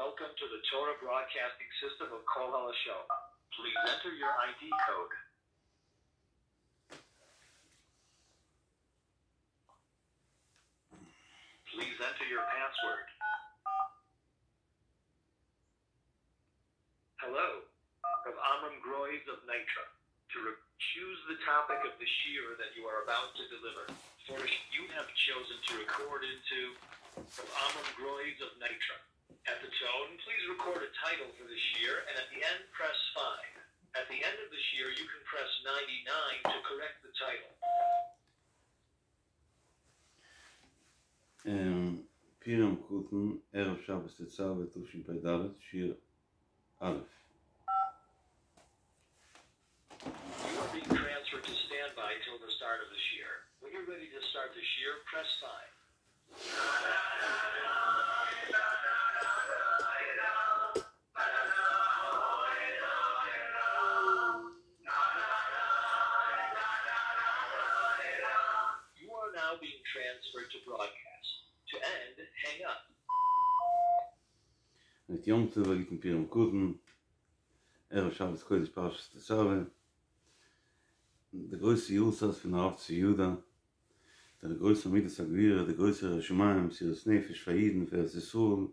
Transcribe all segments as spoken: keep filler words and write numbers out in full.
Welcome to the Torah Broadcasting System of Kol Halashon. Please enter your ID code. Please enter your password. Hello, from Amram Groys of Nitra. To re- choose the topic of the shiur that you are about to deliver. For you have chosen to record into from Amram Groys of Nitra. At the tone, please record a title for the shiur, and at the end, press five. At the end of the shiur, you can press ninety-nine to correct the title. פורים קטן, ערב שבת תצוה תשפ"ד, שיעור א'. You are being transferred to standby till the start of the shiur. When you're ready to start the shiur, press five. You are now being transferred to broadcast. To end, hang up. מיט יום טוב א גוטן פורים קטן, ערב שבת קודש פרשת תצוה, די גרויסע יארצייט פון הרב צבי יהודה, דער גרויסער מידת הגבורה, דער גרויסער ירא שמים, מסירות נפש פאר אידן, פאר ארץ ישראל,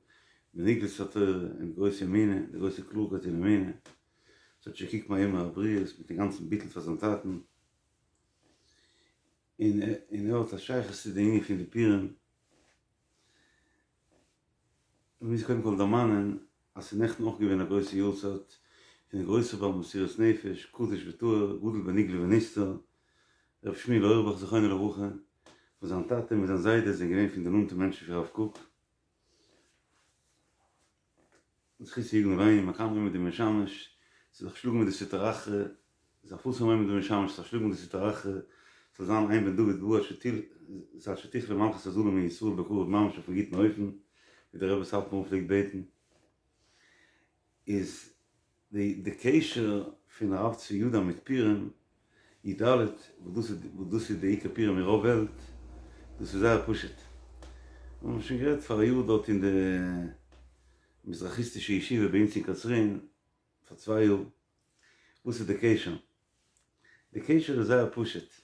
בנגלות התורה, און די גרויסע אמונה, די גרויסע קלארקייט אין אמונה, עס האט שוין געקוקט מאמר הבריות מיטן גאנצן ביטול פאר זיין טאטן, און און ער האט א שייכות צו די ענין פון די פורים. מ'מוז קודם כל דערמאנען אז ס'איז נעכטן אויך געווען א גרויסע יארצייט פון די גרויסע בעל מסירות נפש, קדוש וטהור, גדול בנגלה ונסתר, ר' שמואל אויערבאך זכרונו לברכה, וואס זיין טאטע מיט זיין זיידע זענען געווען פון די נאנטע מענטשן פון הרב קוק, זכותו יגן עלינו, מקיים עומד ומשמש, צו זיך שלאגן מיט די סטרא אחרא, זיך פארסן עומד ומשמש, זיך שלאגן מיט די סטרא אחרא, ס'זאל זיין אין בן דוד בא עד שתכלה מלכות הזרים מישראל בקרוב ממש אויפן גוטן אופן, ווי דער רבי סאטמאר פלעגט בעטן, איז די די קשר פון הרב צבי יהודה מיט פורים י ד, וואס דאס איז וואס דאס איז די עיקר פורים אין רוב וועלט, דאס איז זייער פשוט. מיר האבן שוין גערעדט פאר א יאר דארט אין די מזרחיסטישע ישיבה ביי אונז אין קצרין, פאר צוויי יאר, וואס איז די קשר? די קשר איז זייער פשוט,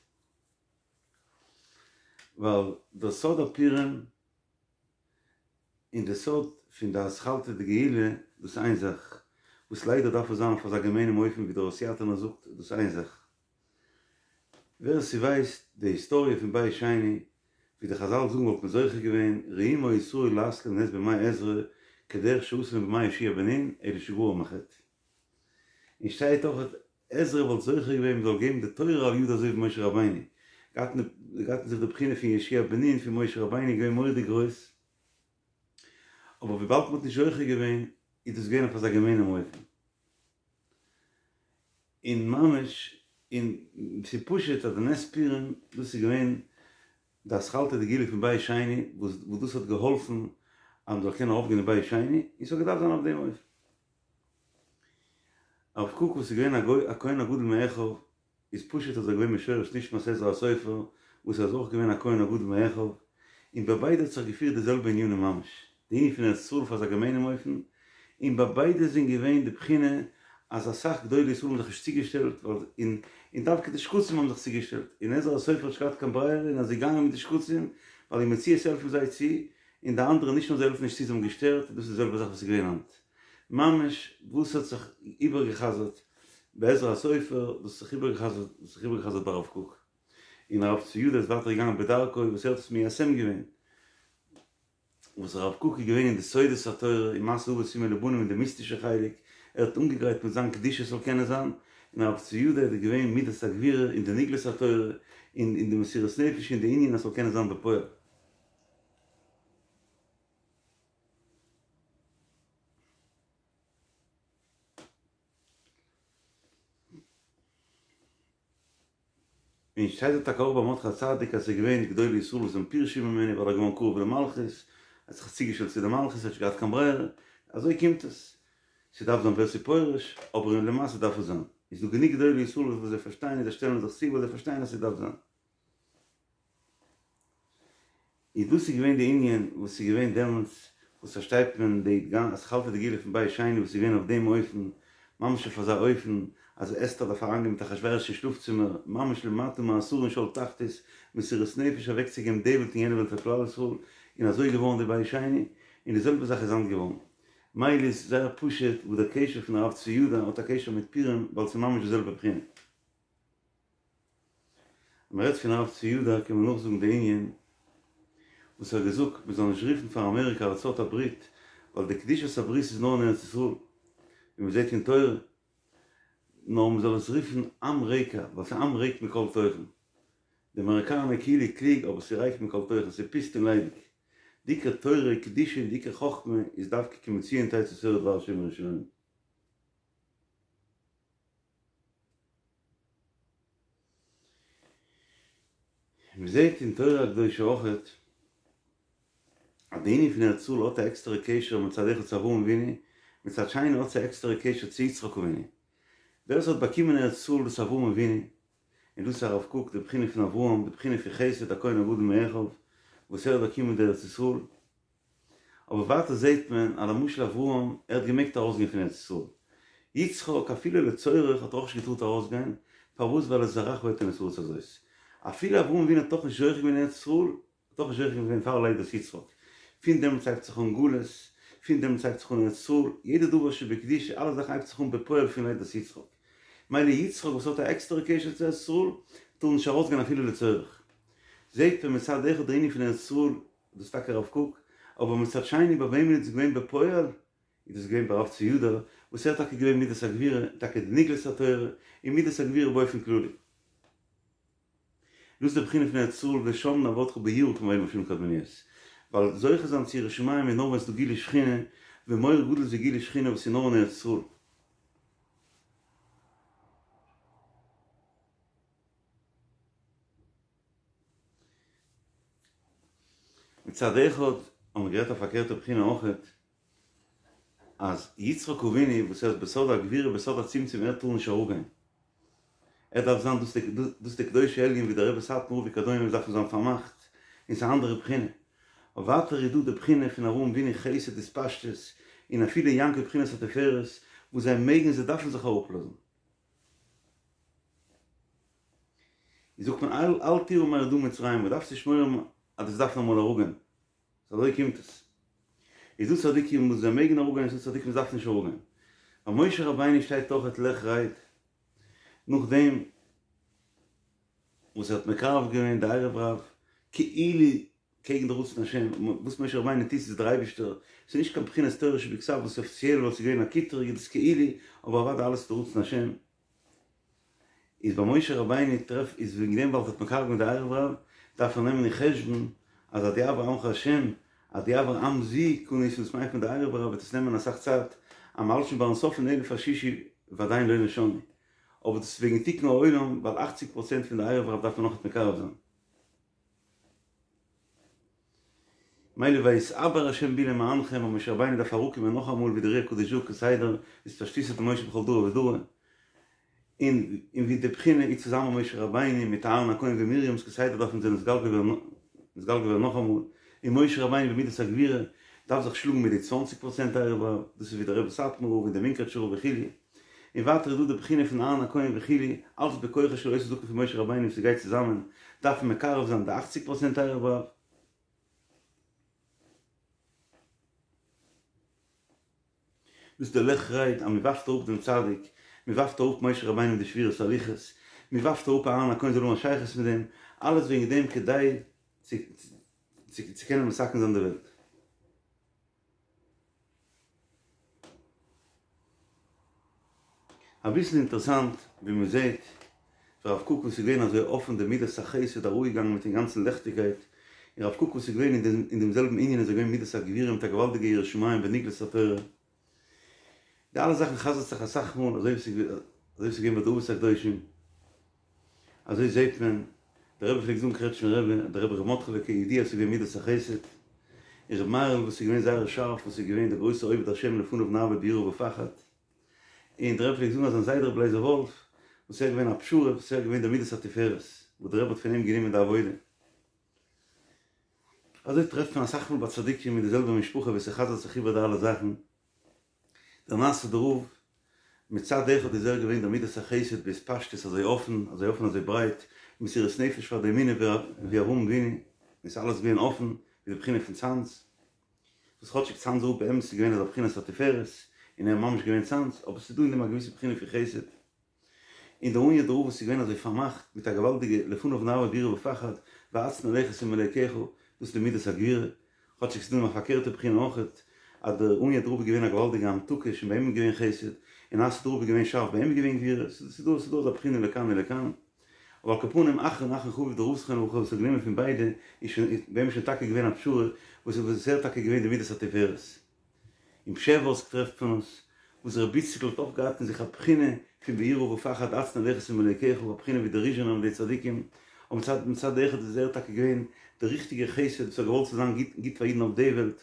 ווייל דער סוד הפורים און די סוד פון די אתחלתא דגאולה, דאס איז איין זאך, וואס ליידער דארף עס זיין אויף אזא געמיינעם אופן ווי דער הוסיאטינער זאגט, דאס איז איין זאך. ווער ס'ווייסט די היסטאריע פון בית שני, ווי די חזל זאגן וואלט מען זוכה געווען, ראוים היו ישראל לעשות להם נס בימי עזרא, כדרך שעשו להם בימי יהושע בן נון, אלא שגרם החטא. און שטייט אויך עזרא וואלט זוכה געווען מ'זאל געבן די תורה על ידו אזוי ווי משה רבינו, געהאט אין זיך די בחינה פון יהושע בן נון פון משה רבינו געווען מורא'דיג גרויס, אבער וויבאלד מ'האט נישט זוכה געווען איז דאס געווען אויף אזא געמיינעם אופן. און ממש, און ס'איז פשוט אז די נס פורים דאס איז געווען די אתחלתא דגאולה פון בית שני וואס דאס האט געהאלפן אז מ'זאל קענען ארויפגיין אין בית שני, און ס'האט געדארפט זיין אויף דעם אופן. הרב קוק וואס איז געווען א גוי א כהן הגדול מאחיו, איז פשוט אז ער איז געווען משורש נשמת עזרא הסופר וואס ער איז אויך געווען א כהן הגדול מאחיו, און ביי ביידע האט זיך געפירט די זעלבע ענינים ממש, די ענין פון ארץ ישראל אויף אזא געמיינעם אופן, און ביי ביידע זענען געווען די בחינה אז אסאך גדולי ישראל האבן זיך נישט צוגעשטעלט ווייל און און דווקא די שקצים האבן זיך צוגעשטעלט, און עזרא הסופר האט נישט געהאט קיין ברירה און איז געגאנגען מיט די שקצים ווייל אין מציאות העלפן זיי צו, און די אנדערע נישט נאר זיי העלפן נישט צו זיי האבן געשטערט, דאס איז די זעלבע זאך וואס איז געווען היינט. ממש וואס האט זיך איבערגעחזרט ביי עזרא הסופר, דאס האט זיך איבערגעחזרט, דאס האט זיך איבערגעחזרט ביי הרב קוק. און הרב צבי יהודה איז ווייטער געגאנגען בדרכו וואס ער האט עס מיישם געווען. וואס הרב קוק איז געווען אין די סודות התורה אין מעשה אבות סימן לבנים אין די מיסטישע חלק, ער האט אנגעגרייט מיט זיין קדושה ס'זאל קענען זיין, און הרב צבי יהודה איז געווען מידת הגבורה אין די נגלות התורה און אין די מסירות נפש אין די ענין אז ס'זאל קענען זיין בפועל. און שטייט דארט טאקע אויך ביי מרדכי הצדיק אז ס'איז געווען גדולי ישראל וואס זענען פירשו ממנו ווייל ער איז געווארן קרוב למלכות, ער האט זיך צוגעשטעלט צו די מלכות, ער האט נישט געהאט קיין ברירה, אזוי קומט עס, ס'דארף זיין ווער ס'פורש, אבער למעשה דארף עס זיין, איז דא גענוג גדולי ישראל וואס זיי פארשטייען און זיי שטעלן זיך צו ווייל זיי פארשטייען אז ס'דארף זיין. איז דאס איז געווען די ענין וואס איז געווען דעמאלטס וואס פארשטייט מען די גאנ אתחלתא דגאולה פון בית שני וואס איז געווען אויף דעם אופן, ממש אויף אזא אופן אז אסתר דארף אריינגיין מיט אחשורוש אין שלאף צימער, ממש למטה מעשרה אין שאול תחתית, מסירות נפש אוועקצוגעבן די וועלט און יענע וועלט פאר כלל ישראל, און אזוי איז געווארן די בית שני, און די זעלבע זאך איז היינט געווארן. מילא איז זייער פשוט וואס דער קשר פון הרב צבי יהודה האט א קשר מיט פורים ווייל ס'איז ממש די זעלבע בחינה. אז מ'רעדט פון הרב צבי יהודה קען מען נאכזאגן די ענין וואס ער האט געזאגט מ'זאל נישט רופן פאר אמעריקא ארצות הברית ווייל די קדושת הברית איז נאר אין ארץ ישראל ווי מ'זעט אין תורה נאר מ'זאל עס רופן עם-ריקא ווייל ס'איז עם ריק מכל תוכן. די אמעריקאנער כאילו קלוג אבער ס'איז ריק מכל תוכן ס'איז פוסט און ליידיג. די עיקר תורה קדושה און די עיקר חכמה איז דווקא כי מציון תצא תורה ודבר השם מירושלים. מען זעט אין תורה הקדושה אויכעט אז די ענין פון ארץ ישראל האט א עקסטערע קשר מצד אחד צו אברהם אבינו, מצד שני האט עס א עקסטערע קשר צו יצחק אבינו. ווער עס האט באקומען ארץ ישראל דאס איז אברהם אבינו, און דאס איז הרב קוק די בחינה פון אברהם, די בחינה פון חסד הכהן הגדול מאחיו, וואס ער האט באקומען די ארץ ישראל. אבער ווייטער זעהט מען אז למשל אברהם ער האט געמעגט ארויסגיין פון ארץ ישראל, יצחק אפילו לצורך האט ער אויך נישט געטארט ארויסגיין, פארוואס ווייל את זרעך אתן את הארץ הזאת, אפילו אברהם אבינו האט דאך נישט זוכה געווען אין ארץ ישראל, האט דאך נישט זוכה געווען פאר לידת יצחק, פון דעמאלטס הייבט זיך אן גלות, פון דעמאלטס הייבט זיך אן ארץ ישראל, יעדע דבר שבקדושה אלע זאכן הייבט זיך אן בפועל פון לידת יצחק, מילא יצחק וואס האט א עקסטערע קשר צו ארץ ישראל, טאר נישט ארויסגיין אפילו לצורך. זעהט מען מצד אחד די ענין פון ארץ ישראל דאס איז טאקע הרב קוק, אבער מצד שני ביי וועמען איז דאס געווען בפועל? איז דאס געווען ביי הרב צבי יהודה, וואס ער האט טאקע געווען מידת הגבורה, טאקע די נגלות התורה, און מידת הגבורה באופן כללי. דאס איז די בחינה פון ארץ ישראל ושם נעבדך ביראה כמו בימים הראשונים קדמוניות. ווייל זוכה זיין צו יראת שמים איז נאר ווען ס'איז דא גילוי שכינה, ומאור גדול זה גילוי שכינה וואס איז נאר אין ארץ ישראל. מצד אחד האבן מיר גערעדט א פארקערטע בחינה אויכעט, אז יצחק אבינו וואס ער איז בסוד הגבורה בסוד הצמצום ער טאר נישט אראפגיין, ער דארף זיין דאס דאס די קדושי עליון ווי דער רבי סאטמאר וכדומה וואס דארפן זיין פארמאכט, און ס'איז א אנדערע בחינה. אבער ווייטער איז דא די בחינה פון אברהם אבינו חסד התפשטות, און אפילו יעקב בחינת התפארת, וואס זיי מעגן זיי דארפן זיך אראפלאזן. זאגט מען אל אל תירא מרדה מצרימה, מען דארף נישט מורא האבן אז דאס דארף אמאל אראפגיין, סאו אזוי קומט עס. איז דא צדיקים וואס זיי מעגן אראפגיין און ס'דא צדיקים וואס דארפן נישט אראפגיין. ביי משה רבינו שטייט אויכעט לך רד, נאכדעם וואס ער האט מקרב געווען די ערב רב, כאילו קעגן די רצון השם, וואס משה רבינו טוט איז דער אייבישטער, ס'איז נישט קיין בחינת תורה שבכתב וואס איז אפיציעל ווייל ס'איז געווען א קטרוג איז דאס כאילו, אבער אוודאי אלעס איז די רצון השם. איז ביי משה רבינו טרעף איז וועגן דעם ווייל ער האט מקרב געווען די ערב רב, דארף מען נעמען אין חשבון אז עד יעבור עמך השם, עד יעבור עם זו קנית וואס מיינט מען די ערב רב וועט עס נעמען אסאך צייט, אז מ'האלט שוין ביים סוף פון אלף השישי ועדיין לא נושענו. אבער דאס איז וועגן תיקון העולם ווייל אכציג פראצענט פון די ערב רב דארף מען נאכנישט מקרב זיין. מילא ויתעבר השם בי למענכם אז משה רבינו דארף אראפקומען נאכאמאל ווי דער אר"י הקדוש זאגט כסדר אתפשטותא דמשה בכל דרא ודרא און און ווי די בחינה איז צוזאמען משה רבינו מיט אהרן הכהן ומרים וואס כסדר דארפן זיי נתגלגל ווערן נתגלגל ווערן נאכאמאל און משה רבינו במידת הגבורה דארף זיך שלאגן מיט די צוואנציג פראצענט ערב רב דאס איז ווי דער רבי סאטמאר רב און דער מונקאטשער רב וכו' און ווייטער איז דא די בחינה פון אהרן הכהן וכו', אלץ בכוחו של אותו זקן פון משה רבינו וואס ס'גייט צוזאמען, דארף מען מקרב זיין די אכציג פראצענט ערב רב. דאס איז די לך רד אז מען ווארפט אראפ דעם צדיק, מען ווארפט אראפ משה רבינו מיט די שבירת הלוחות, מען ווארפט אראפ אהרן הכהן זאל האבן א שייכות מיט דעם, אלעס וועגן דעם כדי צו קענען מתקן זיין די וועלט. אביסל אינטערעסאנט ווי מען זעט הרב קוק וואס איז געווען אזוי אפען די מידת החסד אראפגעגאנגען מיטן גאנצן לעכטיגקייט, און הרב קוק וואס איז געווען אין דעם זעלבן ענין איז ער געווען מידת הגבורה מיט א געוואלדיגע יראת שמים ונגלות התורה. די אלע זאכן חזר'ט זיך אסאך מאל אזוי ווי ס'איז געווען ביי די אבות הקדושים. אזוי זעהט מען, דער רבי פלעגט זאגן קרעטשמער רבי, דער רבי ר' מרדכי'לע כידוע איז געווען מידת החסד, און ר' מאיר'ל וואס איז געווען זייער שארף וואס איז געווען דער גרויסער עובד השם לפניו נעבוד ביראה ופחד, און דער רבי פלעגט זאגן אז זיין זיידע רבי לייזער וואלף וואס ער איז געווען א פשרה וואס ער איז געווען דער מידת התפארת וואס דער רבי האט פון אים גענומען די עבודה. אזוי טרעפט מען אסאך מאל ביי צדיקים אין די זעלבע משפחה ווי ס'חזר'ט זיך איבער די אלע זאכן. דער נאסוידער רב, מצד אחד איז ער געווען דער מידת החסד בהתפשטות אזוי אפן, אזוי אפן אזוי ברייט, מסירות נפש פאר די אמונה ווי אברהם אבינו, און ס'איז אלעס געווען אפן, ווי די בחינה פון צאנז, וואס כאטשיג צאנזער רב באמת איז געווען אזא בחינת התפארת, און ער איז ממש געווען צאנז, אבער ס'איז דא אין דעם א געוויסע בחינה פון חסד. און דער הוניאדער רב וואס איז געווען אזוי פארמאכט מיט א געוואלדיגע לפניו נעמוד ביראה ופחד והצנע לכת עם אלוקיך, דאס איז די מידת הגבורה, כאטשיג ס'איז דא נאך א פארקערטע בחינה אויכעט, אז דער הוניאדער רב איז געווען א געוואלדיגע המתקה שוין ביי אים איז געווען חסד, און נאסוידער רב איז געווען שארף ביי אים איז געווען גבורה, ס'איז דא ס'איז דא אזא בחינה לכאן ולכאן. אבער על כל פנים אחרון אחרון חביב דער רב זכרונו לברכה וואס האט גענומען פון ביידע איז שוין ביי אים איז שוין טאקע געווען א פשרה וואס איז ער טאקע געווען די מידת התפארת. אין פשעווארסק טרעפט מען עס, וואס רבי איציקל האט אויך געהאט אין זיך א בחינה פון ביראה ופחד הצנע לכת עם אלוקיך, א בחינה ווי די ריזשינער און די צדיקים, אבער מצד מצד אחד איז ער טאקע געווען דער ריכטיגער חסד וואס האט געוואלט צו זיין גוט גוט פאר אידן אויף די וועלט.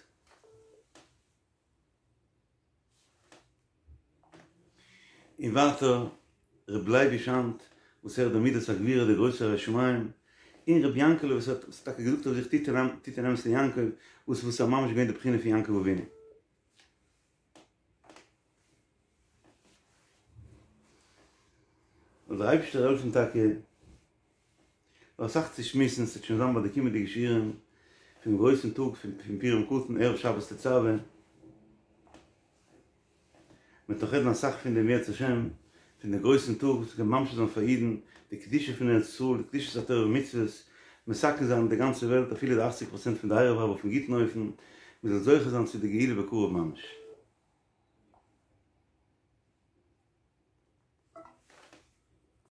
און ווייטער ר' לייביש היינט וואס ער האט די מידת הגבורה דער גרויסער ירא שמים, און ר' יענקעלע וואס האט טאקע געזאגט אויף זיך תתן אמת ליעקב וואס וואס איז ממש געווען די בחינה פון יעקב אבינו. זאל דער אייבערשטער העלפן טאקע נאך אסאך צו שמועסן, ס'וועט שוין זיין ביי די קומענדיגע שיעורים פונעם גרויסן טאג פון פורים קטן ערב שבת תצוה. מ'וועט נאך רעדן אסאך פון דעם אם ירצה השם, פון דעם גרויסן טאג וואס קען ממשיך זיין פאר אידן די קדושה פון ארץ ישראל, די קדושת התורה ומצוות, מתקן זיין די גאנצע וועלט אפילו די אכציג פראצענט פון די ערב רב אויפן גוטן אופן, מ'זאל זוכה זיין צו די גאולה בקרוב ממש.